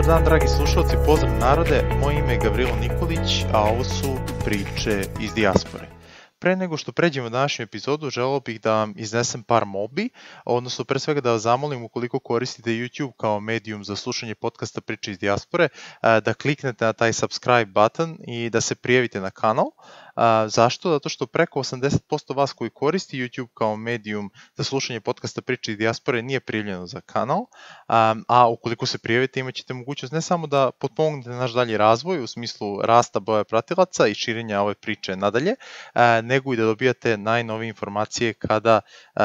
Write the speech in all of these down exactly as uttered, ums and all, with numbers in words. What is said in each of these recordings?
dan, dragi slušalci, pozdrav narode, moje ime je Gavrilo Nikolić, a ovo su priče iz dijaspore. Pre nego što pređemo u današnju epizodu, želeo bih da vam iznesem par molbi, odnosno pre svega da vas zamolim ukoliko koristite YouTube kao medijum za slušanje podcasta Priče iz dijaspore, da kliknete na taj subscribe button i da se prijavite na kanal. Zašto? Zato što preko osamdeset posto vas koji koristi YouTube kao medijum za slušanje podcasta Priče iz dijaspore nije prijavljeno za kanal, a ukoliko se prijavite imat ćete mogućnost ne samo da potpomognete naš dalji razvoj u smislu rasta broja pratilaca i širenja ove priče nadalje, nego i da dobijate najnovije informacije kada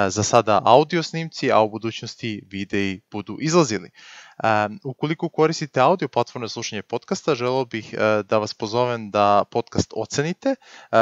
za sada audio snimci, a u budućnosti videi budu izlazili. Um, ukoliko koristite audio platforme za slušanje podcasta, želeo bih uh, da vas pozovem da podcast ocenite, uh,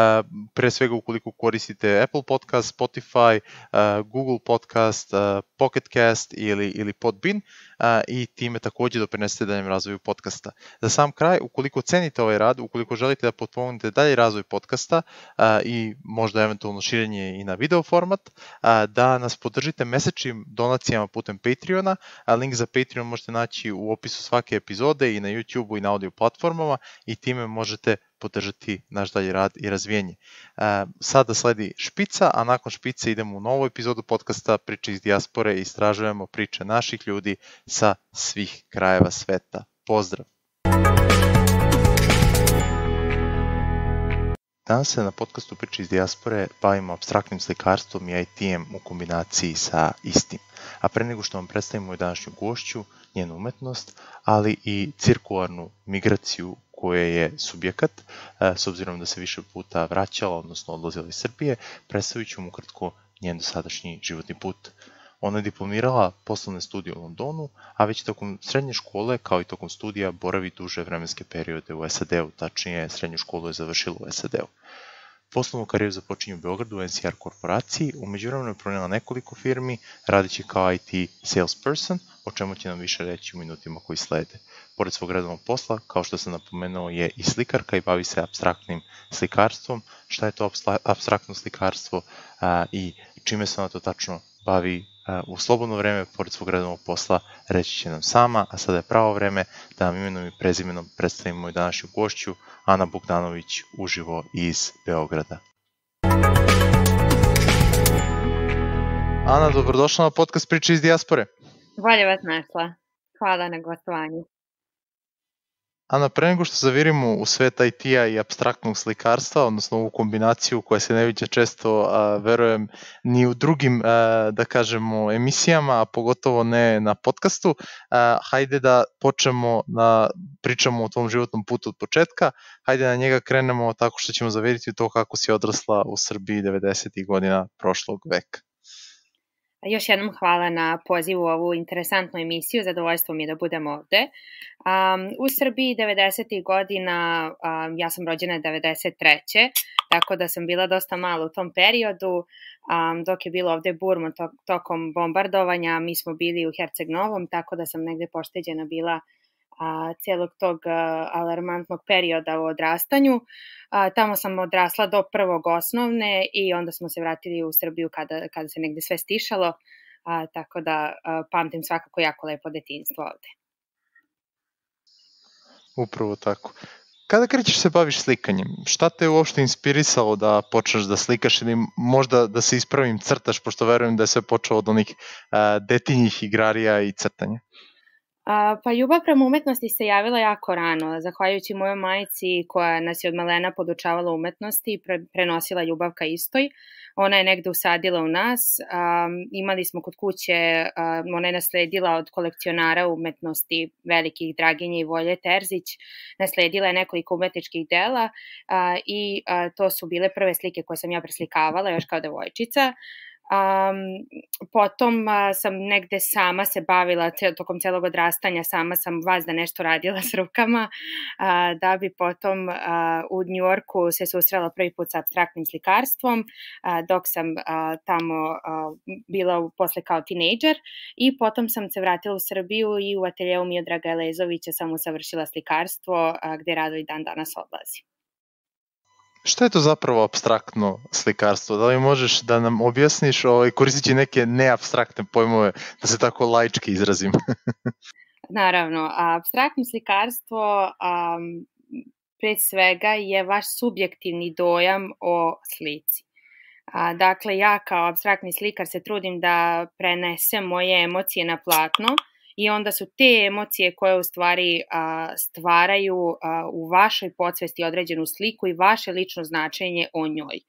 pre svega ukoliko koristite Apple Podcast, Spotify, uh, Google Podcast, uh, Pocket Cast ili, ili Podbean uh, i time takođe doprinesete daljem razvoju podcasta. Za sam kraj, ukoliko cenite ovaj rad, ukoliko želite da potpomognete dalji razvoj podcasta uh, i možda eventualno širenje i na video format, uh, da nas podržite mesečnim donacijama putem Patreona, a link za Patreon možete naći u opisu svake epizode i na YouTube-u i na audio platformama i time možete podržati naš dalji rad i razvijenje. E, sada sledi špica, a nakon špice idemo u novu epizodu podcasta Priče iz dijaspore i istražujemo priče naših ljudi sa svih krajeva sveta. Pozdrav! Danas se na podcastu Priče iz dijaspore bavimo apstraktnim slikarstvom i I T-em u kombinaciji sa istim. A pre nego što vam predstavimo i današnju gošću, njenu umetnost, ali i cirkularnu migraciju koje je subjekat, s obzirom da se više puta vraćala, odnosno odlazila iz Srbije, predstavit ću mu ukratko njen dosadašnji životni put. Ona je diplomirala poslovne studije u Londonu, a već tokom srednje škole, kao i tokom studija, boravi duže vremenske periode u S A D-u, tačnije srednju školu je završila u S A D-u. Poslovnu karijeru započinje u Beogradu u N C R korporaciji, u međuvremenu je pronijela nekoliko firmi, radeći kao I T salesperson, o čemu će nam više reći u minutima koji slede. Pored svog redovnog posla, kao što sam napomenuo, je i slikarka i bavi se apstraktnim slikarstvom. Šta je to apstraktno slikarstvo a, i čime se ona to tačno bavi a, u slobodno vreme, pored svog redovnog posla, reći će nam sama, a sada je pravo vreme da nam imenom i prezimenom predstavimo i današnju gošću, Ana Bogdanović, uživo iz Beograda. Ana, dobrodošla na podcast Priče iz dijaspore. Bolje vas našla. Hvala na gostovanju. Ana, pre nego što zavirimo u svet I T-a i apstraktnog slikarstva, odnosno ovu kombinaciju koja se ne viđa često, a, verujem, ni u drugim, a, da kažemo, emisijama, a pogotovo ne na podcastu, a, hajde da počnemo da pričamo o tvom životnom putu od početka, hajde na njega krenemo tako što ćemo zaviriti u to kako si odrasla u Srbiji devedesetih godina prošlog veka. Još jednom hvala na pozivu u ovu interesantnu emisiju, zadovoljstvo mi je da budem ovde. Um, u Srbiji devedesetih godina, um, ja sam rođena devedeset treće tako da sam bila dosta malo u tom periodu, um, dok je bilo ovde burmo to, tokom bombardovanja, mi smo bili u Herceg Novom, tako da sam negde pošteđena bila a, celog tog a, alarmantnog perioda u odrastanju. A, tamo sam odrasla do prvog osnovne i onda smo se vratili u Srbiju kada, kada se negde sve stišalo, a, tako da a, pamtim svakako jako lepo detinjstvo ovde. Upravo tako. Kada krećeš se baviš slikanjem? Šta te je uopšte inspirisalo da počneš da slikaš ili možda da se ispravim crtaš, pošto verujem da je sve počelo od onih a, detinjih igrarija i crtanja? A, pa ljubav prema umetnosti se javila jako rano, zahvaljujući mojoj majci koja nas je od malena podučavala umetnosti i pre, prenosila ljubav ka istoj. Ona je negde usadila u nas, um, imali smo kod kuće, um, ona je nasledila od kolekcionara umetnosti velikih Draginje i Volje Terzić, nasledila je nekoliko umetničkih dela uh, i uh, to su bile prve slike koje sam ja preslikavala još kao devojčica. Um, potom uh, sam negde sama se bavila cel, tokom celog odrastanja, sama sam vazda nešto radila s rukama, uh, da bi potom uh, u Njujorku se susrela prvi put sa apstraktnim slikarstvom, uh, dok sam uh, tamo uh, bila posle kao tinejdžer i potom sam se vratila u Srbiju i u ateljeu Miodraga Elezovića sam usavršila slikarstvo, uh, gde rado i dan danas odlazim. Šta je to zapravo apstraktno slikarstvo? Da li možeš da nam objasniš, ovaj, koristeći neke neapstraktne pojmove, da se tako laički izrazim? naravno, apstraktno slikarstvo um, pre svega je vaš subjektivni dojam o slici. A, dakle, ja kao apstraktni slikar se trudim da prenesem moje emocije na platno i onda su te emocije koje u stvari a, stvaraju a, u vašoj podsvesti određenu sliku i vaše lično značenje o njoj.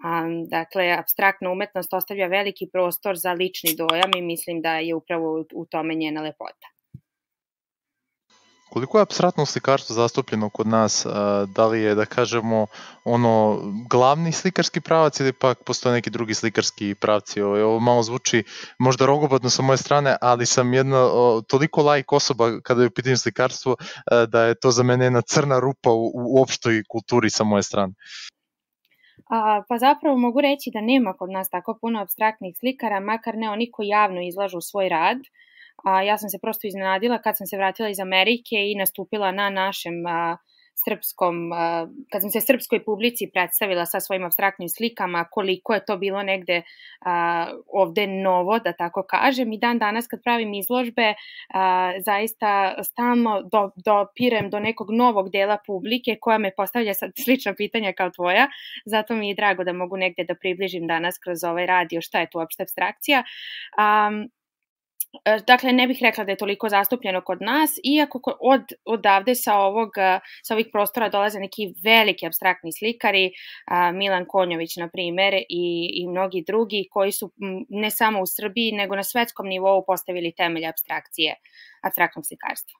A, dakle, apstraktna umetnost ostavlja veliki prostor za lični dojam i mislim da je upravo u tome njena lepota. Koliko je apstraktno slikarstvo zastupljeno kod nas? Da li je, da kažemo, ono glavni slikarski pravac ili pak postoje neki drugi slikarski pravci? Ovo, ovo malo zvuči možda rogobatno sa moje strane, ali sam jedna o, toliko laik osoba kada je u pitanju slikarstvo da je to za mene jedna crna rupa u, u opštoj kulturi sa moje strane. A, pa zapravo mogu reći da nema kod nas tako puno apstraktnih slikara, makar ne oni koji javno izlažu svoj rad. A, ja sam se prosto iznenadila kad sam se vratila iz Amerike i nastupila na našem a, srpskom, a, kad sam se srpskoj publici predstavila sa svojim apstraktnim slikama, koliko je to bilo negde a, ovde novo, da tako kažem. I dan danas kad pravim izložbe, a, zaista stalno do, dopirem do nekog novog dela publike koja me postavlja sad slična pitanja kao tvoja, zato mi je drago da mogu negde da približim danas kroz ovaj radio šta je tu uopšte apstrakcija. A, Dakle, ne bih rekla da je toliko zastupljeno kod nas, iako od, odavde sa, ovog, sa ovih prostora dolaze neki veliki apstraktni slikari, Milan Konjović, na primer, i, i mnogi drugi, koji su ne samo u Srbiji, nego na svetskom nivou postavili temelj apstrakcije, apstraktnog slikarstva.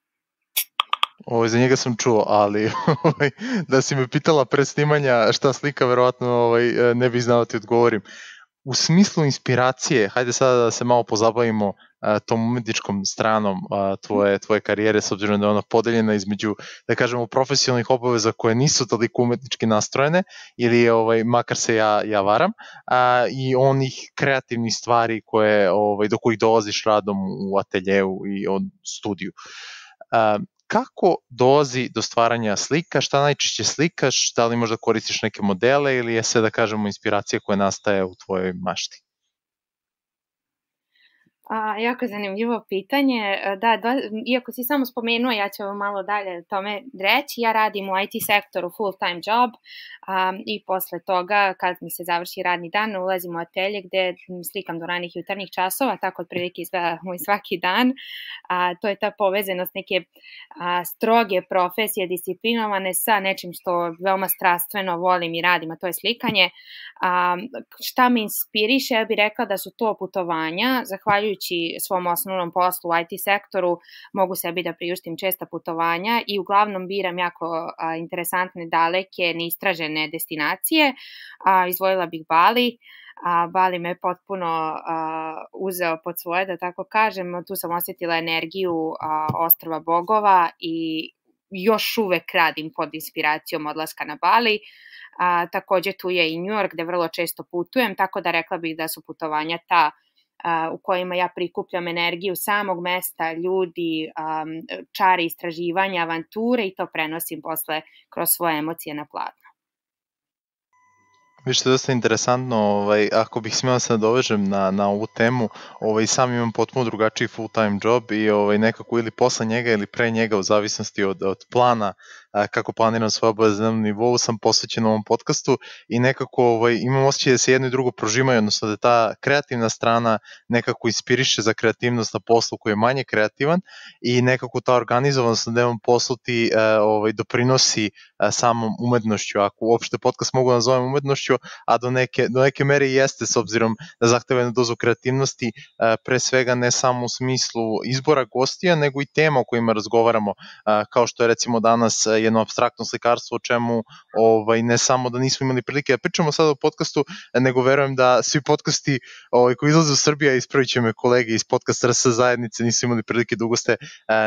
Ovo, za njega sam čuo, ali ovaj, da si me pitala pre snimanja šta slika, verovatno ovaj, ne bih znao ti odgovorim. U smislu inspiracije, hajde sada da se malo pozabavimo a, tom umetničkom stranom a, tvoje, tvoje karijere, s obzirom da je ona podeljena između, da kažemo, profesionalnih obaveza koje nisu toliko umetnički nastrojene, ili ovaj, makar se ja, ja varam, a, i onih kreativnih stvari koje, ovaj, do kojih dolaziš radom u ateljeu i od studiju. A, Kako dolazi do stvaranja slika, šta najčešće slikaš, da li možda koristiš neke modele ili je sve, da kažemo, inspiracija koja nastaje u tvojoj mašti? A, jako zanimljivo pitanje. Da, dva, iako si samo spomenuo, ja ću malo dalje o tome reći. Ja radim u I T sektoru full time job a, i posle toga, kad mi se završi radni dan, ulazim u atelje gde slikam do ranih jutarnjih časova, tako otprilike izgleda moj svaki dan. A, to je ta povezanost neke a, stroge profesije, disciplinovane sa nečim što veoma strastveno volim i radim, a to je slikanje. A, šta me inspiriše? Ja bih rekla da su to putovanja, zahvaljujući svom osnovnom poslu u I T sektoru mogu sebi da priuštim česta putovanja i uglavnom biram jako a, interesantne, daleke, neistražene destinacije. A, izvojila bih Bali. A, Bali me potpuno a, uzeo pod svoje, da tako kažem. Tu sam osetila energiju a, ostrva bogova i još uvek radim pod inspiracijom odlaska na Bali. A, takođe tu je i New York gde vrlo često putujem, tako da rekla bih da su putovanja ta u kojima ja prikupljam energiju samog mesta, ljudi, čari istraživanja, avanture i to prenosim posle kroz svoje emocije na platno. Viš, to je dosta interesantno, ovaj, ako bih smjela se nadovežem na, na ovu temu, ovaj, sam imam potpuno drugačiji full time job i ovaj, nekako ili posle njega ili pre njega u zavisnosti od, od plana, a, kako planiram svoje obaveze na nivou, sam posvećen ovom podcastu i nekako ovaj, imam osjećaj da se jedno i drugo prožimaju, odnosno da ta kreativna strana nekako inspiriše za kreativnost na poslu koji je manje kreativan i nekako ta organizovanost na devom poslu ti a, ovaj, doprinosi a, samom umetnošću, ako uopšte podcast mogu nazovem umetnošću, a do neke, do neke mere i jeste, s obzirom da zahteva jednu dozu kreativnosti, pre svega ne samo u smislu izbora gostija, nego i tema o kojima razgovaramo, kao što je recimo danas jedno apstraktno slikarstvo, o čemu ovaj, ne samo da nismo imali prilike da pričamo sada o podcastu, nego verujem da svi podcasti ovaj, koji izlaze u Srbiji, ispravit će me kolege iz podcast R S zajednice, nisu imali prilike da ugoste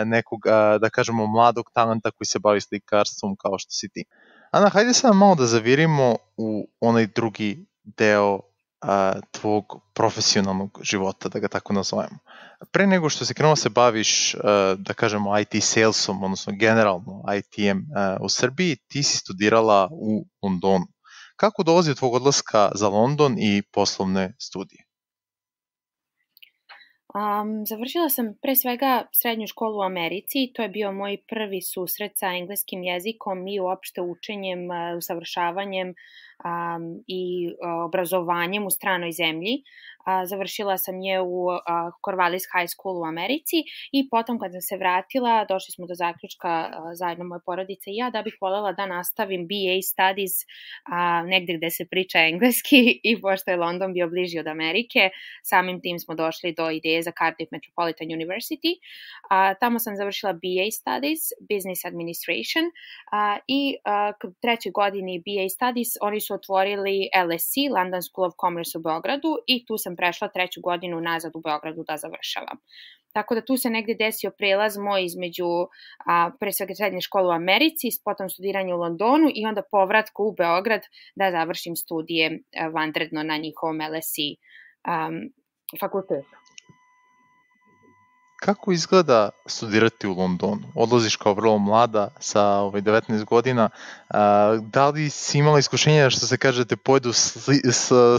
nekog, da kažemo, mladog talenta koji se bavi slikarstvom kao što si ti. Ana, hajde sad malo da zavirimo u onaj drugi deo a, tvog profesionalnog života, da ga tako nazovemo. Pre nego što se krenuo se baviš, a, da kažemo, I T salesom, odnosno generalno I T-em a, u Srbiji, ti si studirala u Londonu. Kako dolazi od tvog odlaska za London i poslovne studije? Um, završila sam pre svega srednju školu u Americi, to je bio moj prvi susret sa engleskim jezikom i uopšte učenjem, usavršavanjem um, i obrazovanjem u stranoj zemlji. A, završila sam je u a, Corvallis High School u Americi i potom kad sam se vratila, došli smo do zaključka a, zajedno moje porodice i ja da bih voljela da nastavim B A Studies a, negde gde se priča engleski i pošto je London bio bliži od Amerike, samim tim smo došli do ideje za Cardiff Metropolitan University. A, tamo sam završila B A Studies, Business Administration a, i a, u trećoj godini B A Studies oni su otvorili L S E, London School of Commerce u Beogradu i tu sam prešla treću godinu nazad u Beogradu da završavam. Tako da tu se negde desio prelaz moj između a, pre svega srednje škole u Americi, potom studiranje u Londonu i onda povratku u Beograd da završim studije a, vanredno na njihovom L S E um, fakultetu. Kako izgleda studirati u Londonu? Odlaziš kao vrlo mlada sa ovaj, devetnaest godina. A, da li si imala iskušenja što se kaže te pojedu sli,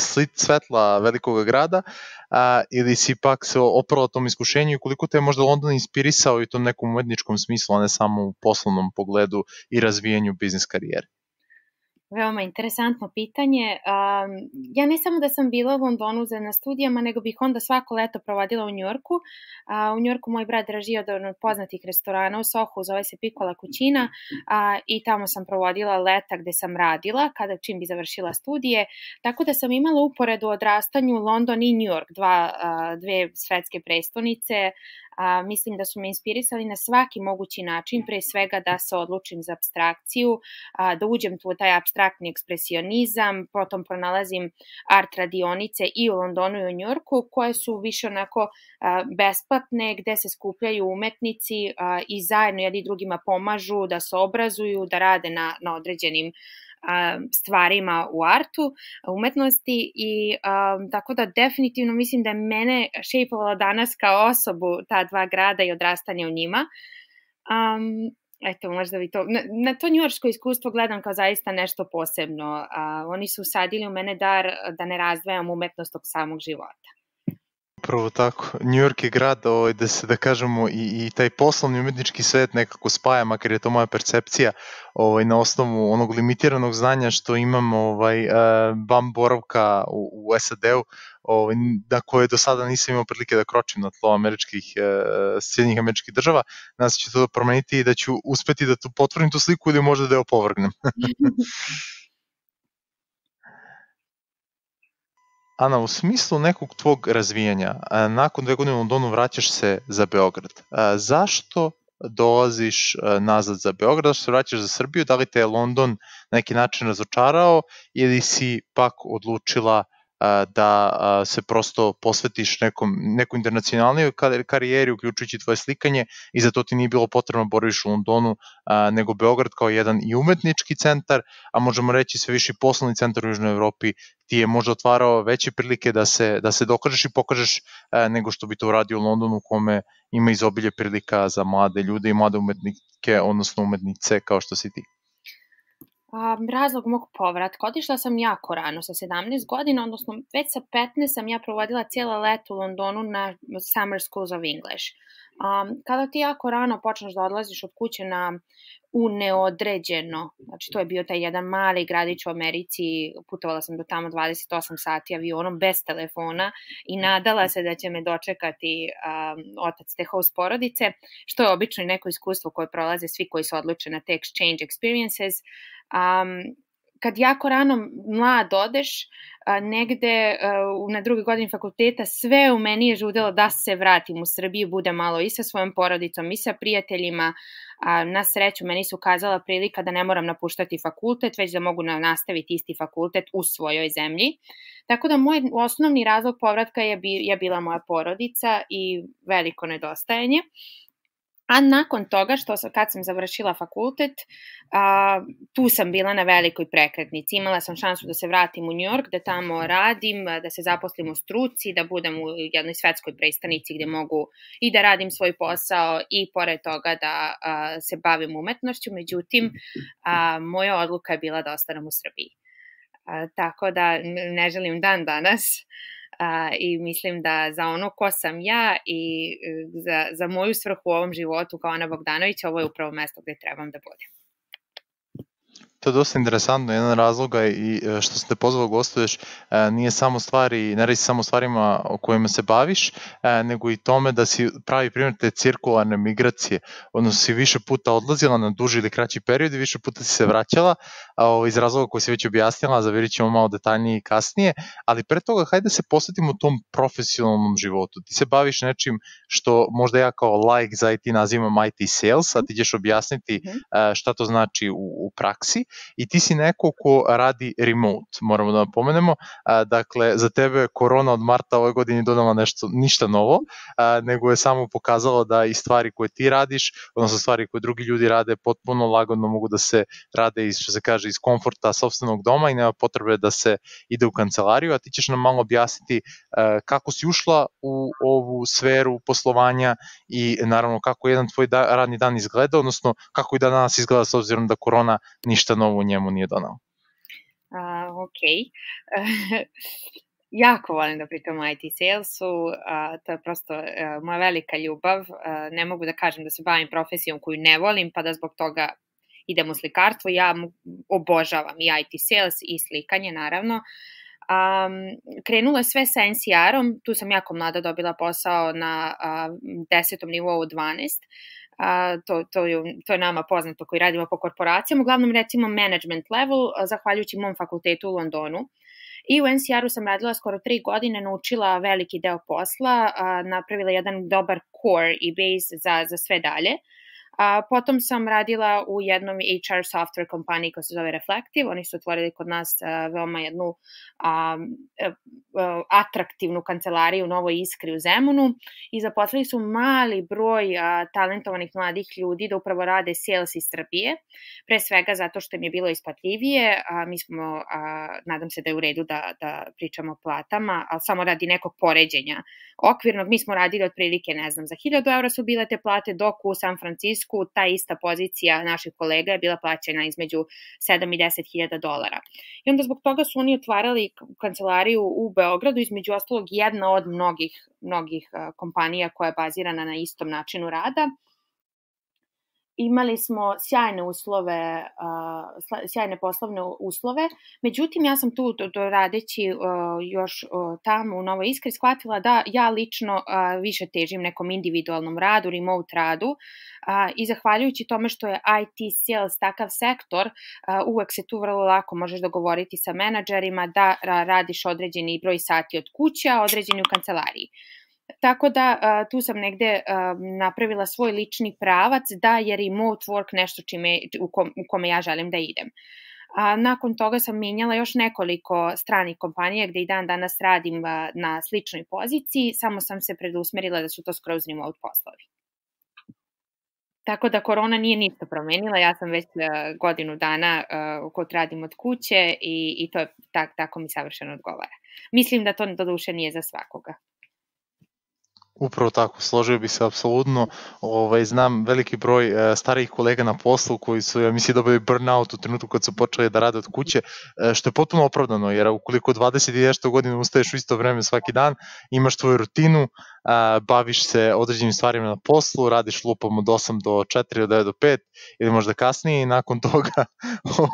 slit svetla velikog grada a, ili si pak se oprala tom iskušenju i koliko te je možda London inspirisao i u tom nekom umetničkom smislu, a ne samo u poslovnom pogledu i razvijanju biznis karijere? Veoma interesantno pitanje. Um, ja ne samo da sam bila u Londonu za, na studijama, nego bih onda svako leto provodila u Njujorku. Uh, u Njujorku moj brat draži od poznatih restorana u Sohu, zove se Piccola Cucina uh, i tamo sam provodila leta gde sam radila, kada čim bi završila studije. Tako da sam imala uporedu odrastanju London i New York, dva, uh, dve svetske prestonice. A, mislim da su me inspirisali na svaki mogući način, pre svega da se odlučim za abstrakciju, a, da uđem tu u taj abstraktni ekspresionizam, potom pronalazim art radionice i u Londonu i u Njujorku, koje su više onako a, besplatne, gde se skupljaju umetnici a, i zajedno jedni drugima pomažu da se obrazuju, da rade na, na određenim stvarima u artu, umetnosti i um, tako da definitivno mislim da je mene šejpovala danas kao osobu ta dva grada i odrastanje u njima. Um, eto, možda bi to, na, na to njujorško iskustvo gledam kao zaista nešto posebno. Uh, oni su usadili u mene dar da ne razdvajam umetnost od samog života. Upravo tako. New York je grad ovaj, da se, da kažemo, i, i taj poslovni umetnički svet nekako spaja, makar je to moja percepcija, ovaj, na osnovu onog limitiranog znanja što imam ovaj, van boravka u, u S A D-u, ovaj, na koje do sada nisam imao prilike da kročim na tlo američkih, Sjedinjenih američkih država. Nadam se će to promeniti i da ću uspeti da tu potvrdim tu sliku ili možda da je opovrgnem. Ana, u smislu nekog tvog razvijanja, nakon dve godine u Londonu vraćaš se za Beograd. Zašto dolaziš nazad za Beograd, zašto se vraćaš za Srbiju? Da li te je London na neki način razočarao ili si pak odlučila da se prosto posvetiš nekom, nekom internacionalnoj karijeri, uključujući tvoje slikanje i za to ti nije bilo potrebno boraviš u Londonu, nego Beograd kao jedan i umetnički centar, a možemo reći sve više poslovni centar u Južnoj Evropi ti je možda otvarao veće prilike da se, da se dokažeš i pokažeš nego što bi to uradio u Londonu, u kome ima izobilje prilika za mlade ljude i mlade umetnike, odnosno umetnice kao što si ti. Um, razlog mog povratka, otišla sam jako rano, sa sedamnaest godina, odnosno već sa petnaest sam ja provodila cijela leto u Londonu na Summer Schools of English. Um, kada ti jako rano počneš da odlaziš od kuće na u neodređeno, znači to je bio taj jedan mali gradić u Americi, putovala sam do tamo dvadeset osam sati avionom bez telefona i nadala se da će me dočekati um, otac te host porodice, što je obično neko iskustvo koje prolaze svi koji se odluče na te exchange experiences. Um, kad jako rano mlad odeš, negde na drugoj godini fakulteta, sve u meni je žudelo da se vratim u Srbiju, bude malo i sa svojom porodicom i sa prijateljima. Na sreću meni su ukazala prilika da ne moram napuštati fakultet, već da mogu nastaviti isti fakultet u svojoj zemlji. Tako da moj osnovni razlog povratka je, bi, je bila moja porodica i veliko nedostajanje. A nakon toga, što sam, kad sam završila fakultet, a, tu sam bila na velikoj prekretnici. Imala sam šansu da se vratim u New York, da tamo radim, da se zaposlim u struci, da budem u jednoj svetskoj prestonici gde mogu i da radim svoj posao i pored toga da a, se bavim umetnošću. Međutim, a, moja odluka je bila da ostanem u Srbiji. A, tako da ne želim dan danas a, i mislim da za ono ko sam ja i za, za moju svrhu u ovom životu kao Ana Bogdanović, ovo je upravo mesto gde trebam da budem. To je dosta interesantno, jedan razloga i što sam te pozvao gostuješ nije samo stvari, ne radi samo stvarima o kojima se baviš, nego i tome da si pravi primjer te cirkularne migracije, odnosno si više puta odlazila na duži ili kraći period i više puta si se vraćala iz razloga koji si već objasnila, zavirit ćemo malo detaljnije i kasnije, ali pre toga hajde se posvetimo tom profesionalnom životu. Ti se baviš nečim što možda ja kao like za I T nazivam I T sales, a ti ćeš objasniti šta to znači u, u praksi. I ti si neko ko radi remote, moramo da napomenemo, a, dakle za tebe korona od marta ove godine donala nešto, ništa novo, a, nego je samo pokazalo da i stvari koje ti radiš, odnosno stvari koje drugi ljudi rade potpuno lagodno mogu da se rade iz, što se kaže, iz komforta sopstvenog doma i nema potrebe da se ide u kancelariju, a ti ćeš nam malo objasniti a, kako si ušla u ovu sferu poslovanja i naravno kako jedan tvoj da, radni dan izgleda, odnosno kako i da danas izgleda s obzirom da korona ništa novo u njemu nije donao. Uh, ok. Jako volim da pričam o I T salesu, uh, to je prosto uh, moja velika ljubav. Uh, ne mogu da kažem da se bavim profesijom koju ne volim, pa da zbog toga idem u slikarstvo. Ja obožavam i I T sales i slikanje, naravno. Um, krenulo je sve sa N C R-om, tu sam jako mlada dobila posao na uh, desetom nivou dvanaest. Uh, to, to, je, to je nama poznato koji radimo po korporacijama, uglavnom recimo management level, uh, zahvaljujući mom fakultetu u Londonu. I u N C R-u sam radila skoro tri godine, naučila veliki deo posla, uh, napravila jedan dobar core i base za, za sve dalje. A, potom sam radila u jednom H R software kompaniji koja se zove Reflective. Oni su otvorili kod nas a, veoma jednu a, a, atraktivnu kancelariju u Novoj Iskri u Zemunu i zaposlili su mali broj a, talentovanih mladih ljudi da upravo rade sales iz Srbije. Pre svega zato što im je bilo isplatljivije. A, mi smo, a, nadam se da je u redu da, da pričamo o platama, ali samo radi nekog poređenja okvirnog. Mi smo radili otprilike, ne znam, za hiljadu eura su bile te plate, dok u San Francisco ta ista pozicija naših kolega je bila plaćena između sedam i deset hiljada dolara. I onda zbog toga su oni otvarali kancelariju u Beogradu, između ostalog jedna od mnogih, mnogih kompanija koja je bazirana na istom načinu rada. Imali smo sjajne uslove, uh, sjajne poslovne uslove, međutim ja sam tu do, do radeći uh, još uh, tamo u Novoj Iskri shvatila da ja lično uh, više težim nekom individualnom radu, remote radu uh, i zahvaljujući tome što je I T sales takav sektor, uh, uvek se tu vrlo lako možeš dogovoriti sa menadžerima da radiš određeni broj sati od kuće, a određeni u kancelariji. Tako da uh, tu sam negde uh, napravila svoj lični pravac da je remote work nešto čime, u, kom, u kome ja želim da idem. A nakon toga sam menjala još nekoliko stranih kompanija gde i dan danas radim uh, na sličnoj poziciji, samo sam se predusmerila da su to skroz remote poslovi. Tako da korona nije ništa promenila, ja sam već uh, godinu dana uh, kod radim od kuće i, i to je tak, tako mi savršeno odgovara. Mislim da to do duše nije za svakoga. Upravo tako, složio bi se apsolutno. Ovaj, znam veliki broj e, starijih kolega na poslu koji su, ja mislim, dobili burnout u trenutku kad su počeli da rade od kuće, e, što je potpuno opravdano, jer ukoliko dvadeset i nešto godina ustaješ u isto vreme svaki dan, imaš tvoju rutinu, a, baviš se određenim stvarima na poslu, radiš lupom od osam do četiri, od devet do pet ili možda kasnije i nakon toga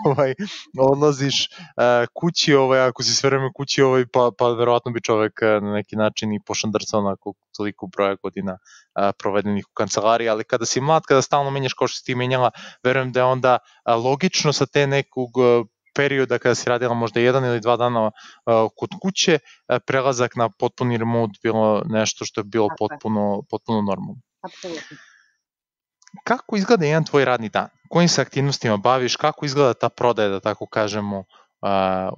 ovaj, odlaziš a, kući, ovaj, ako si sve vreme kući, ovaj, pa, pa verovatno bi čovek na neki način i pošandrcao onako toliko broja godina a, provedenih u kancelariji, ali kada si mlad, kada stalno menjaš kao što si ti menjala, verujem da je onda a, logično sa te nekog a, perioda kada si radila možda jedan ili dva dana uh, kod kuće, uh, prelazak na potpuni remote bilo nešto što je bilo potpuno, potpuno normalno. Apsolutno. Kako izgleda jedan tvoj radni dan? Kojim se aktivnostima baviš? Kako izgleda ta prodaja, da tako kažemo, uh,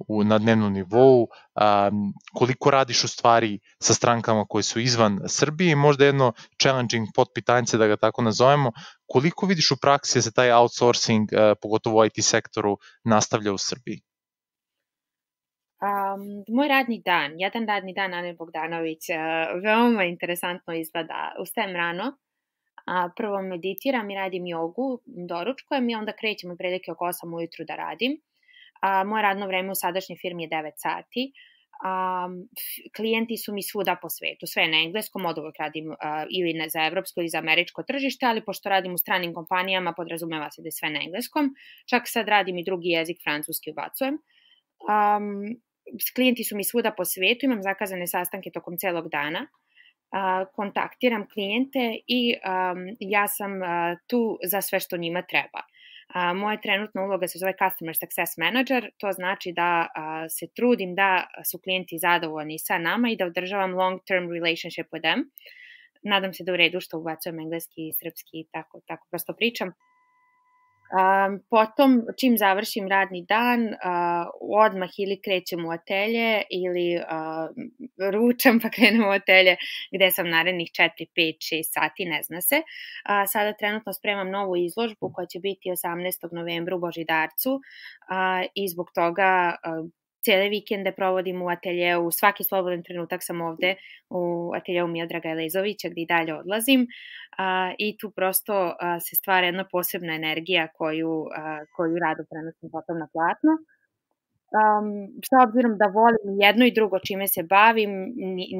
u, na dnevnom nivou? Um, koliko radiš u stvari sa strankama koje su izvan Srbije i možda jedno challenging potpitanjce, da ga tako nazovemo, koliko vidiš u praksi da se taj outsourcing, uh, pogotovo u I T sektoru, nastavlja u Srbiji? Um, moj radni dan, jedan radni dan Ane Bogdanović, uh, veoma interesantno izgleda. Ustajem rano, a prvo meditiram i radim jogu, doručkujem i onda krećem otprilike oko osam ujutru da radim. A, moje radno vreme u sadašnjoj firmi je devet sati. Um, klijenti su mi svuda po svetu, sve na engleskom, od uvek radim uh, ili ne za evropsko ili za američko tržište, ali pošto radim u stranim kompanijama, podrazumeva se da je sve na engleskom, čak sad radim i drugi jezik, francuski ubacujem. Um, klijenti su mi svuda po svetu, imam zakazane sastanke tokom celog dana, uh, kontaktiram klijente i um, ja sam uh, tu za sve što njima treba. A, moja trenutna uloga se zove Customer Success Manager, to znači da a, se trudim da su klijenti zadovoljni sa nama i da održavam long-term relationship with them. Nadam se da u redu što ubacujem engleski i srpski i tako, tako prosto pričam. Um, potom, čim završim radni dan, uh, odmah ili krećem u atelje ili uh, ručam pa krenem u atelje gde sam narednih četiri, pet, šest sati, ne zna se. Uh, sada trenutno spremam novu izložbu koja će biti osamnaestog novembra u Božidarcu uh, i zbog toga uh, cijele vikende provodim u ateljeu, svaki slobodan trenutak sam ovde u ateljeu Miodraga Elezovića gde i dalje odlazim a, i tu prosto a, se stvara jedna posebna energija koju, a, koju rado prenosim potom na platno. Um, s obzirom da volim jedno i drugo čime se bavim,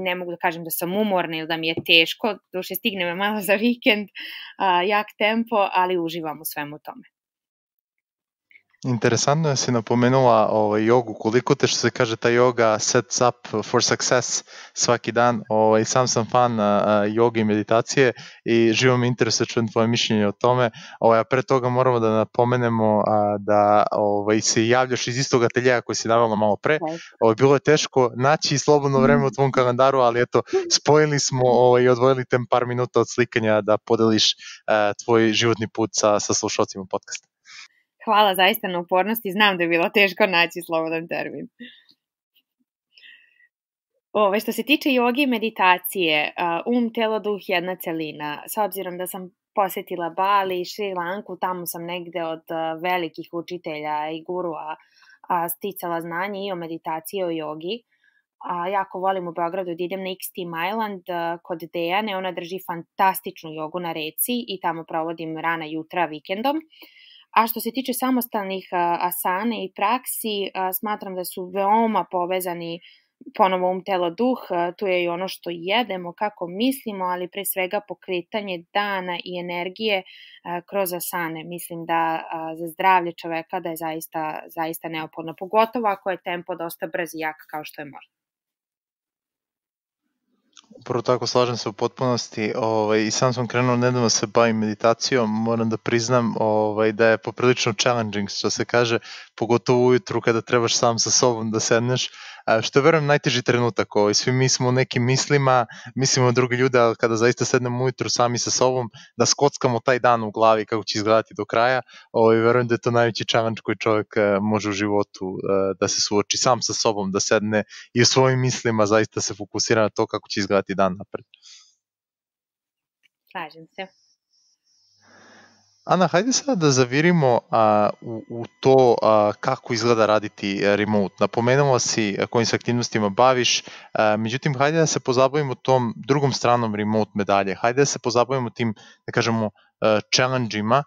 ne mogu da kažem da sam umorna ili da mi je teško, duše stigne me malo za vikend, a, jak tempo, ali uživam u svemu tome. Interesantno je si napomenula ovaj, jogu, koliko te što se kaže ta joga sets up for success svaki dan. Ovaj, sam sam fan a, joge i meditacije i živo me interesuje čujem tvoje mišljenje o tome. Ovaj, a pre toga moramo da napomenemo a, da ovaj, se javljaš iz istog ateljeja koji si navela malo pre. Ovaj, bilo je teško naći slobodno vreme u tvom kalendaru, ali eto, spojili smo ovaj, i odvojili tem par minuta od slikanja da podeliš a, tvoj životni put sa, sa slušalcima podcasta. Hvala zaista na upornosti, znam da je bilo teško naći slobodan termin. Ove, što se tiče joge i meditacije, um, telo, duh, jedna celina. S obzirom da sam posetila Bali i Šri Lanku, tamo sam negde od velikih učitelja i gurua sticala znanje i o meditaciji i o jogi. A, jako volim u Beogradu da idem na Extreme Island kod Dejane, ona drži fantastičnu jogu na reci i tamo provodim rana jutra vikendom. A što se tiče samostalnih asane i praksi, smatram da su veoma povezani ponovo um, telo, duh, tu je i ono što jedemo, kako mislimo, ali pre svega pokretanje dana i energije kroz asane. Mislim da za zdravlje čoveka da je zaista, zaista neophodno, pogotovo ako je tempo dosta brz i jak kao što je možda. Upravo tako, slažem se u potpunosti. Ovaj, I sam sam krenuo nedavno se bavim meditacijom, moram da priznam ovaj, da je poprilično challenging, što se kaže, pogotovo ujutru kada trebaš sam sa sobom da sedneš, što je verujem najteži trenutak. Ovaj. Svi mi smo u nekim mislima, mislimo na drugi ljude, ali kada zaista sednemo ujutru sami sa sobom, da skockamo taj dan u glavi kako će izgledati do kraja, ovaj, verujem da je to najveći challenge koji čovjek može u životu da se suoči sam sa sobom, da sedne i u svojim mislima zaista se fokusira na to kako će izgledati dan napred. Slažem se. Ana, hajde sada da zavirimo a, u, u to a, kako izgleda raditi remote. Napomenula si kojim se aktivnostima baviš, a, međutim, hajde da se pozabavimo tom drugom stranom remote medalje. Hajde da se pozabavimo tim, da kažemo, challenge-ima.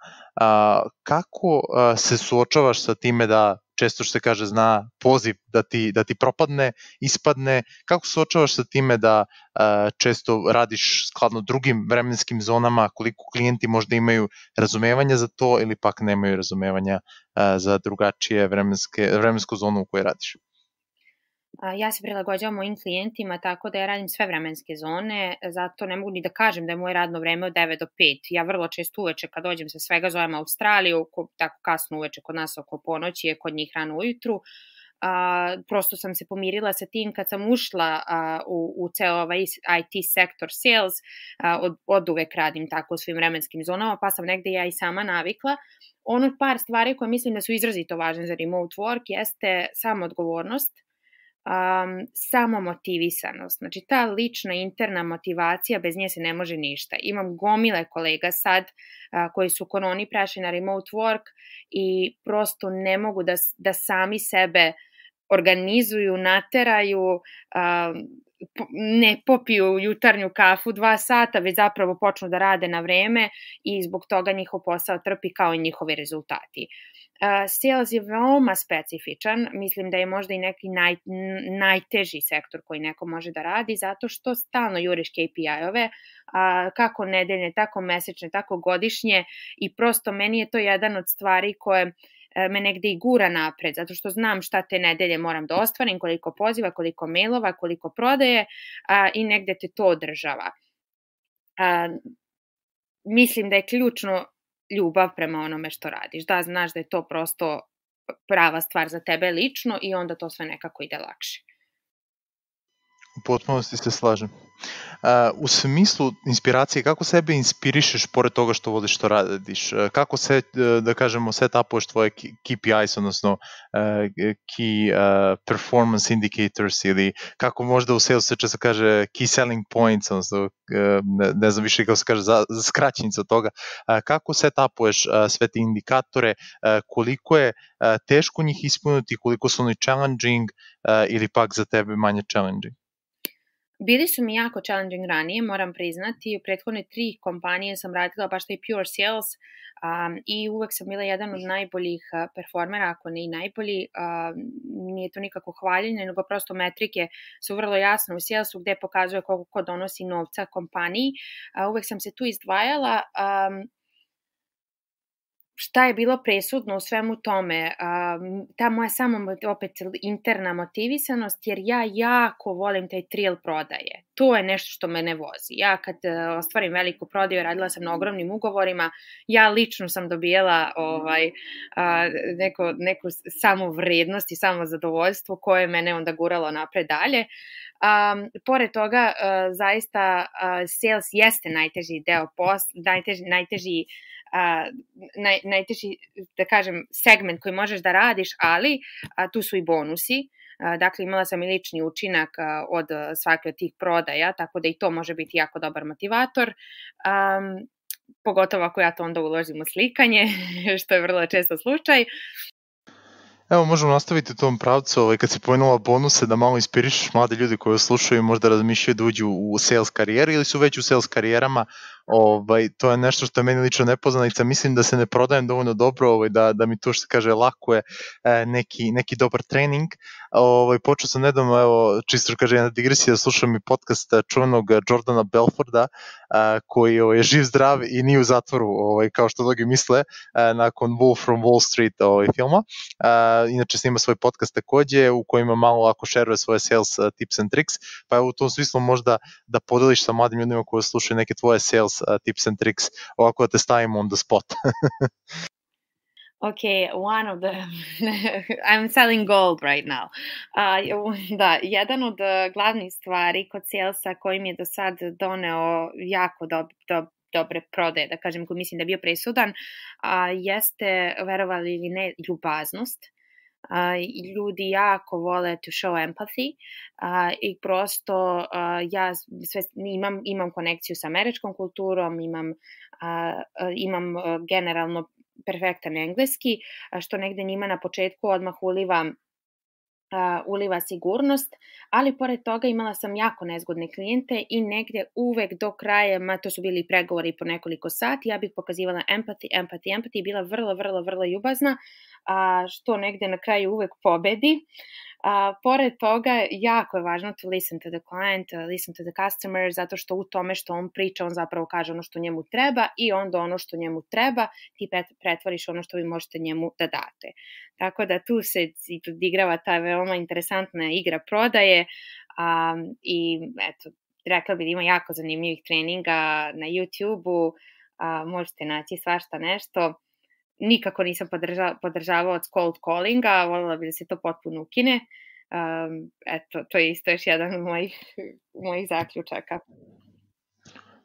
Kako a, se suočavaš sa time da često što se kaže zna poziv da ti, da ti propadne, ispadne, kako se suočavaš sa time da uh, često radiš skladno drugim vremenskim zonama, koliko klijenti možda imaju razumevanja za to ili pak nemaju razumevanja uh, za drugačije vremenske, vremensku zonu u kojoj radiš? Ja se prilagođavam mojim klijentima tako da ja radim sve vremenske zone, zato ne mogu ni da kažem da je moje radno vreme od devet do pet. Ja vrlo često uveče kad dođem sa svega zovem Australiju, tako kasno uveče kod nas oko ponoći je, kod njih rano ujutru. A, prosto sam se pomirila sa tim kad sam ušla a, u, u ceo ovaj I T sektor sales, a, od, od uvek radim tako u svim vremenskim zonama, pa sam negde ja i sama navikla. Ono par stvari koje mislim da su izrazito važne za remote work jeste samoodgovornost, Um, samomotivisanost, znači ta lična interna motivacija, bez nje se ne može ništa. Imam gomile kolega sad uh, koji su koroni prešli na remote work i prosto ne mogu da, da sami sebe organizuju, nateraju, uh, ne popiju jutarnju kafu dva sata, već zapravo počnu da rade na vreme i zbog toga njihov posao trpi kao i njihovi rezultati. Sales je veoma specifičan, mislim da je možda i neki naj, najteži sektor koji neko može da radi, zato što stalno juriš K P I-ove, kako nedeljne, tako mesečne, tako godišnje, i prosto meni je to jedan od stvari koje me negde i gura napred, zato što znam šta te nedelje moram da ostvarim, koliko poziva, koliko mailova, koliko prodaje, a, i negde te to održava. A, mislim da je ključno ljubav prema onome što radiš, da znaš da je to prosto prava stvar za tebe lično i onda to sve nekako ide lakše. U potpunosti se slažem. Uh, u smislu inspiracije, kako sebe inspirišeš pored toga što voliš što radiš? Uh, kako se, uh, da kažemo, setupuješ tvoje K P Is, odnosno uh, key uh, performance indicators, ili kako možda u sales se često kaže key selling points, odnosno uh, ne, ne znam više kako se kaže za, za skraćenica od toga. Uh, kako setupuješ uh, sve te indikatore, uh, koliko je uh, teško njih ispuniti, koliko su oni challenging uh, ili pak za tebe manje challenging? Bili su mi jako challenging ranije, moram priznati. U prethodne tri kompanije sam radila baš taj pure sales um, i uvek sam bila jedan od najboljih uh, performera, ako ne i najbolji. Um, nije to nikako hvaljenje, nego prosto metrike su vrlo jasne u salesu gde pokazuje koliko ko donosi novca kompaniji. Uh, uvek sam se tu izdvajala. Um, Šta je bilo presudno u svemu tome? Ta moja samo opet interna motivisanost, jer ja jako volim taj thrill prodaje. To je nešto što me ne vozi. Ja kad ostvarim veliku prodaju, radila sam na ogromnim ugovorima, ja lično sam dobijala ovaj, neko, neku samo vrednost i samo zadovoljstvo koje je mene onda guralo napred dalje. Um, pored toga, uh, zaista uh, sales jeste najteži deo posla, najteži, najteži Uh, naj, najteži, da kažem, segment koji možeš da radiš, ali uh, tu su i bonusi. Uh, dakle, imala sam i lični učinak uh, od svake od tih prodaja, tako da i to može biti jako dobar motivator. Um, pogotovo ako ja to onda uložim u slikanje, što je vrlo često slučaj. Evo, možemo nastaviti u tom pravcu, ovaj, kad si pomenula bonuse, da malo inspirišeš mlade ljudi koji slušaju i možda razmišljaju da uđu u sales karijeri ili su već u sales karijerama. Ovaj, to je nešto što je meni lično nepoznanica, mislim da se ne prodajem dovoljno dobro, ovaj, da, da mi to što se kaže lako je e, neki, neki dobar trening. Ovaj, počeo sam nedavno, evo, čisto što kaže jedna digresija, da slušam i podcast čuvenog Jordana Belforda, a, koji ovaj, je živ, zdrav i nije u zatvoru, ovaj, kao što mnogi misle, a, nakon Wolf from Wall Street ovaj, filma. A, inače snima svoj podcast takođe, u kojima malo ako šeruje svoje sales uh, tips and tricks, pa evo u tom smislu možda da podeliš sa mladim ljudima koji slušaju neke tvoje sales uh, tips and tricks, ovako da te stavimo on the spot. Okay, one of the, I'm selling gold right now. Uh, da, jedan od glavnih stvari kod salesa koji mi je do sad doneo jako do, do, dobre prodaje, da kažem, koji mislim da je bio presudan, a, jeste, verovali ili ne, ljubaznost. A, ljudi jako vole to show empathy a, i prosto a, ja sve, imam, imam konekciju sa američkom kulturom, imam, a, imam a, generalno perfektan engleski, a, što negde njima na početku odmah uliva Uh, uliva sigurnost, ali pored toga imala sam jako nezgodne klijente i negde uvek do kraja, ma to su bili pregovori po nekoliko sati, ja bih pokazivala empathy, empathy, empathy, bila vrlo, vrlo, vrlo ljubazna, a, što negde na kraju uvek pobedi. A, pored toga, jako je važno to listen to the client, uh, listen to the customer, zato što u tome što on priča, on zapravo kaže ono što njemu treba i onda ono što njemu treba ti pretvoriš ono što vi možete njemu da date. Tako da tu se odigrava ta veoma interesantna igra prodaje um, i eto, rekla bih da ima jako zanimljivih treninga na YouTube-u, uh, možete naći svašta nešto. Nikako nisam podrža, podržavao od cold callinga, voljela bih da se to potpuno ukine. Um, eto, to je isto još jedan od mojih, mojih zaključaka.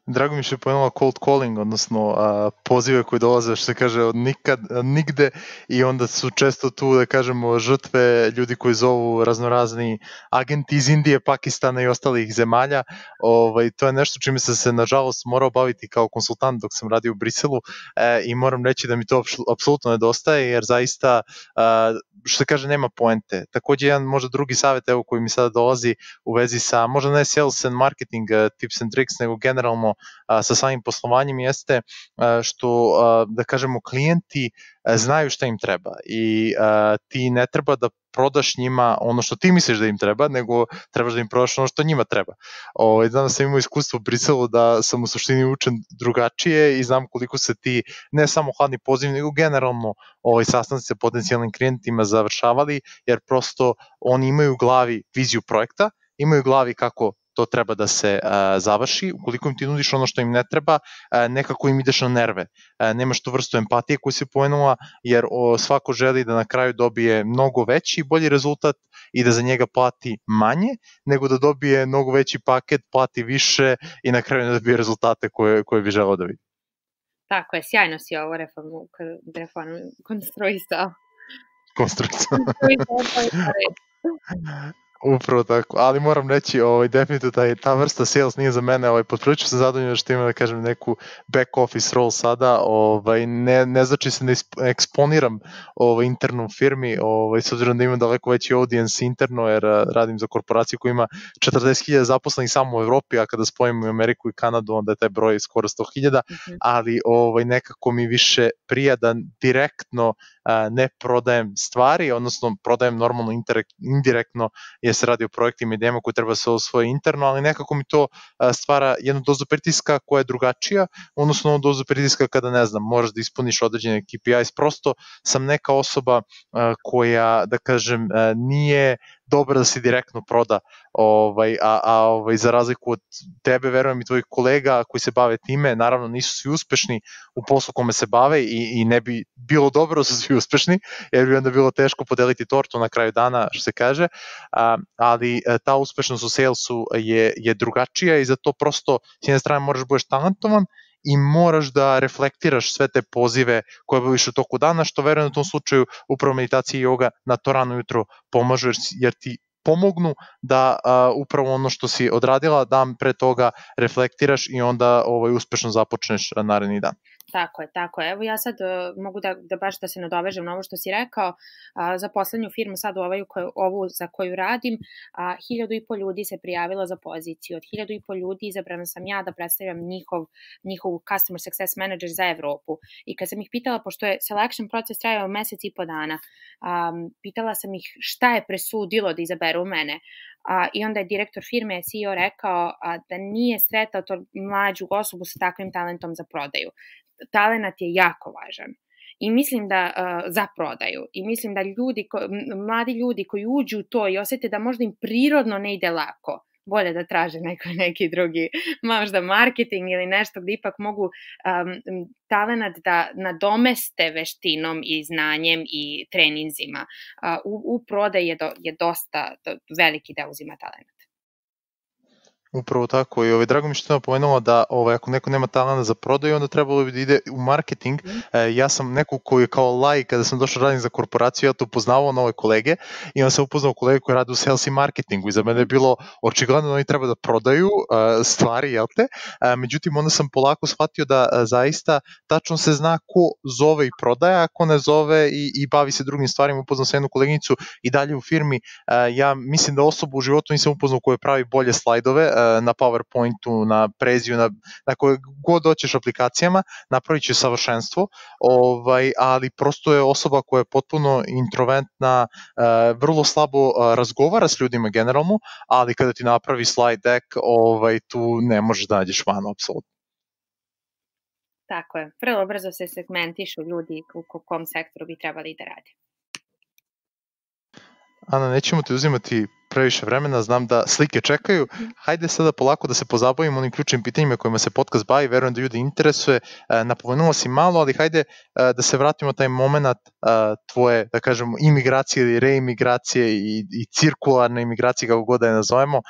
Drago mi što je pomenula cold calling, odnosno a, pozive koji dolaze, što se kaže, od nikad, nigde, i onda su često tu, da kažemo, žrtve ljudi koji zovu raznorazni agenti iz Indije, Pakistana i ostalih zemalja. Ovaj, to je nešto čime sam se, nažalost, morao baviti kao konsultant dok sam radio u Briselu e, i moram reći da mi to apsolutno nedostaje, jer zaista, a, što se kaže, nema poente. Takođe, jedan možda drugi savjet, evo, koji mi sada dolazi u vezi sa, možda ne sales and marketing uh, tips and tricks, nego generalno a, sa samim poslovanjem jeste a, što, a, da kažemo, klijenti a, znaju šta im treba i a, ti ne treba da prodaš njima ono što ti misliš da im treba, nego trebaš da im prodaš ono što njima treba. O, danas sam imao iskustvo u Briselu da sam u suštini učen drugačije i znam koliko se ti, ne samo hladni poziv, nego generalno ovaj, sastanci sa potencijalnim klijentima završavali, jer prosto oni imaju u glavi viziju projekta, imaju u glavi kako to treba da se uh, završi. Ukoliko im ti nudiš ono što im ne treba, uh, nekako im ideš na nerve. Uh, nemaš tu vrstu empatije koju si pomenula, jer o, svako želi da na kraju dobije mnogo veći i bolji rezultat i da za njega plati manje, nego da dobije mnogo veći paket, plati više i na kraju ne dobije rezultate koje, koje bi želeo da vidi. Tako je, sjajno si ovo reformu, reformu konstruisao. Konstruisao. Upravo tako, ali moram reći, ovaj, definitivno taj, ta vrsta sales nije za mene, ovaj, potprilično sam zadovoljan što imam, da kažem, neku back office role sada, ovaj, ne, ne znači se da eksponiram ovaj, internu firmi, ovaj, s obzirom da imam daleko veći audience interno, jer radim za korporaciju koja ima četrdeset hiljada zaposlenih samo u Evropi, a kada spojimo Ameriku i Kanadu, onda je taj broj skoro sto hiljada, mm-hmm. ali ovaj, nekako mi više prija da direktno a, ne prodajem stvari, odnosno prodajem normalno indirekt, indirektno, jer se radi o projektima i idejama koje treba se osvoje interno, ali nekako mi to stvara jednu dozu pritiska koja je drugačija, odnosno dozu pritiska kada, ne znam, moraš da ispuniš određene K P Is, prosto sam neka osoba koja, da kažem, nije dobro da se direktno proda, ovaj, a, a ovaj, za razliku od tebe, verujem i tvojih kolega koji se bave time, naravno nisu svi uspešni u poslu kome se bave i, i ne bi bilo dobro da su svi uspešni, jer bi onda bilo teško podeliti tortu na kraju dana, što se kaže, a, ali ta uspešnost u salesu je, je drugačija i zato prosto s jedne strane moraš budeš talentovan i moraš da reflektiraš sve te pozive koje baviš u toku dana, što verujem u tom slučaju upravo meditacija i joga na to rano jutro pomažu, jer ti pomognu da a, upravo ono što si odradila dan pre toga reflektiraš i onda ovaj, uspešno započneš naredni dan. Tako je, tako je. Evo ja sad uh, mogu da, da baš da se nadovežem na ovo što si rekao. Uh, za poslednju firmu sad ovu, ovu za koju radim, uh, hiljadu i po ljudi se prijavilo za poziciju. Od hiljadu i po ljudi izabrana sam ja da predstavljam njihov, njihov Customer Success Manager za Evropu. I kad sam ih pitala, pošto je selection proces trajao mesec i po dana, um, pitala sam ih šta je presudilo da izaberu mene. A, I onda je direktor firme, C E O, rekao a, da nije sretao to mlađu osobu sa takvim talentom za prodaju. Talenat je jako važan. I mislim da uh, za prodaju. I mislim da ljudi, ko, mladi ljudi koji uđu u to i osete da možda im prirodno ne ide lako, bolje da traže neko, neki drugi, možda marketing ili nešto gde ipak mogu um, talenat da nadomeste veštinom i znanjem i treninzima. Uh, u, u prodaju je, do, je dosta do, veliki da uzima talenat. Upravo tako i ovaj, drago mi što sam napomenula da ovaj, ako neko nema talenta za prodaju, onda trebalo bi da ide u marketing. Mm. E, ja sam neko koji je kao laj, kada sam došao radim za korporaciju, ja to upoznavao nove kolege i onda sam upoznao kolege koji rade u sales i marketingu i za mene je bilo očigledno da oni treba da prodaju uh, stvari, jel te? Uh, međutim, onda sam polako shvatio da uh, zaista tačno se zna ko zove i prodaja, a ko ne zove i, i bavi se drugim stvarima. Upoznao sam jednu koleginicu i dalje u firmi. Uh, ja mislim da osobu u životu nisam upoznao koja pravi bolje slajdove, uh, na PowerPointu, na Preziju, na, na koje god hoćeš aplikacijama, napravit će savršenstvo, ovaj, ali prosto je osoba koja je potpuno introvertna, uh, vrlo slabo uh, razgovara s ljudima generalno, ali kada ti napravi slide deck, ovaj, tu ne možeš da nađeš manu, apsolutno. Tako je, vrlo brzo se segmentišu ljudi u kom sektoru bi trebali da rade. Ana, nećemo ti uzimati previše vremena, znam da slike čekaju. Hajde sada polako da se pozabavimo onim ključnim pitanjima kojima se podcast bavi, verujem da ljudi interesuje. Napomenula si malo, ali hajde da se vratimo taj moment tvoje, da kažemo, imigracije ili reimigracije i, i cirkularne imigracije, kako god da je nazovemo.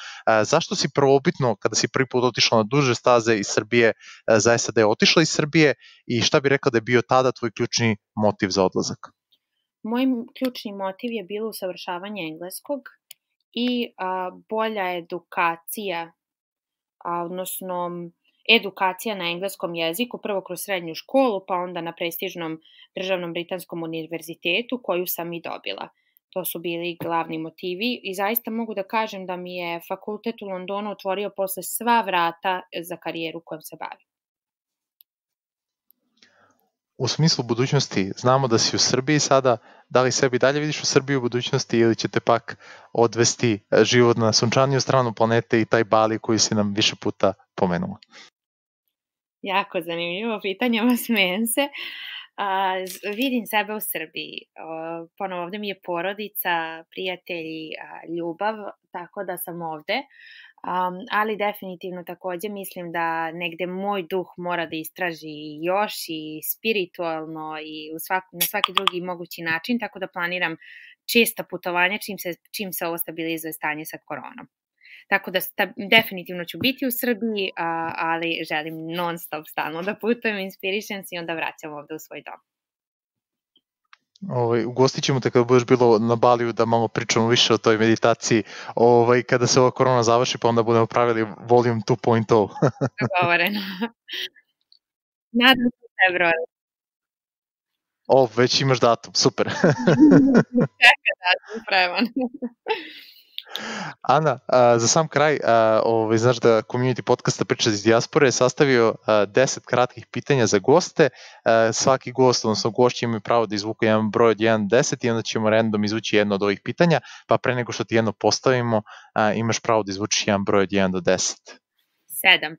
Zašto si prvobitno, kada si prvi put otišla na duže staze iz Srbije, zaista da je otišla iz Srbije i šta bi rekla da je bio tada tvoj ključni motiv za odlazak? Moj ključni motiv je bilo usavršavanje engleskog i a, bolja edukacija, a, odnosno edukacija na engleskom jeziku, prvo kroz srednju školu, pa onda na prestižnom državnom britanskom univerzitetu koju sam i dobila. To su bili glavni motivi i zaista mogu da kažem da mi je fakultet u Londonu otvorio posle sva vrata za karijeru kojom se bavim. U smislu budućnosti, znamo da si u Srbiji sada, da li sebi dalje vidiš u Srbiji u budućnosti ili će te pak odvesti život na sunčaniju stranu planete i taj Bali koji si nam više puta pomenula? Jako zanimljivo pitanje, smijem se. A, vidim sebe u Srbiji. A, ponovo ovde mi je porodica, prijatelji, a, ljubav, tako da sam ovde. Um, ali definitivno takođe mislim da negde moj duh mora da istraži još i spiritualno i u svak, na svaki drugi mogući način, tako da planiram česta putovanja čim se, čim se ovo stabilizuje stanje sa koronom. Tako da sta, definitivno ću biti u Srbiji, a, ali želim non stop stalno da putujem, inspirišem se i onda vraćam ovde u svoj dom. Ovaj, ugostit ćemo te kada budeš bilo na Baliju da malo pričamo više o toj meditaciji ovaj, kada se ova korona završi, pa onda budemo pravili volume two point oh. Dogovoreno. Nadam se februara. O, već imaš datum, super. Čeka datum, spreman. Ana, a, za sam kraj, a, ovaj, znaš da Community podcasta Priča iz dijaspore je sastavio a, deset kratkih pitanja za goste. A, svaki gost, odnosno gošći imaju pravo da izvuku jedan broj od jedan do deset i onda ćemo random izvući jedno od ovih pitanja, pa pre nego što ti jedno postavimo, a, imaš pravo da izvučiš jedan broj od jedan do deset. Sedam.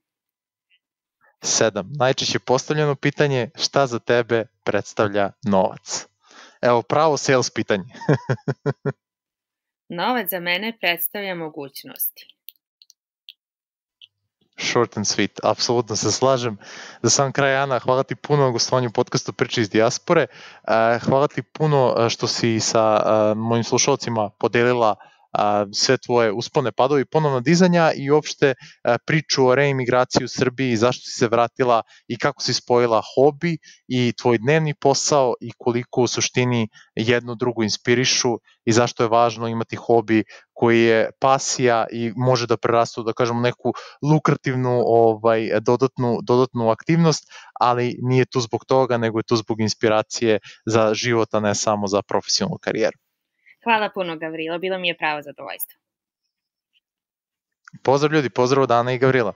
Sedam. Najčešće postavljeno pitanje, šta za tebe predstavlja novac? Evo, pravo sales pitanje. Novac za mene predstavlja mogućnosti. Short and sweet, apsolutno se slažem. Za sam kraj, Ana, hvala ti puno na gostovanju podcastu Priče iz dijaspore. Hvala ti puno što si sa mojim slušalcima podelila sve tvoje uspone, padovi, ponovno dizanja i uopšte priču o reimigraciji u Srbiji, zašto si se vratila i kako si spojila hobi i tvoj dnevni posao i koliko u suštini jedno drugo inspirišu i zašto je važno imati hobi koji je pasija i može da prerastu, da kažemo, neku lukrativnu ovaj, dodatnu, dodatnu aktivnost, ali nije tu zbog toga, nego je tu zbog inspiracije za život, a ne samo za profesionalnu karijeru. Hvala puno, Gavrilo, bilo mi je pravo zadovoljstvo. Pozdrav ljudi, pozdrav od Ana i Gavrila.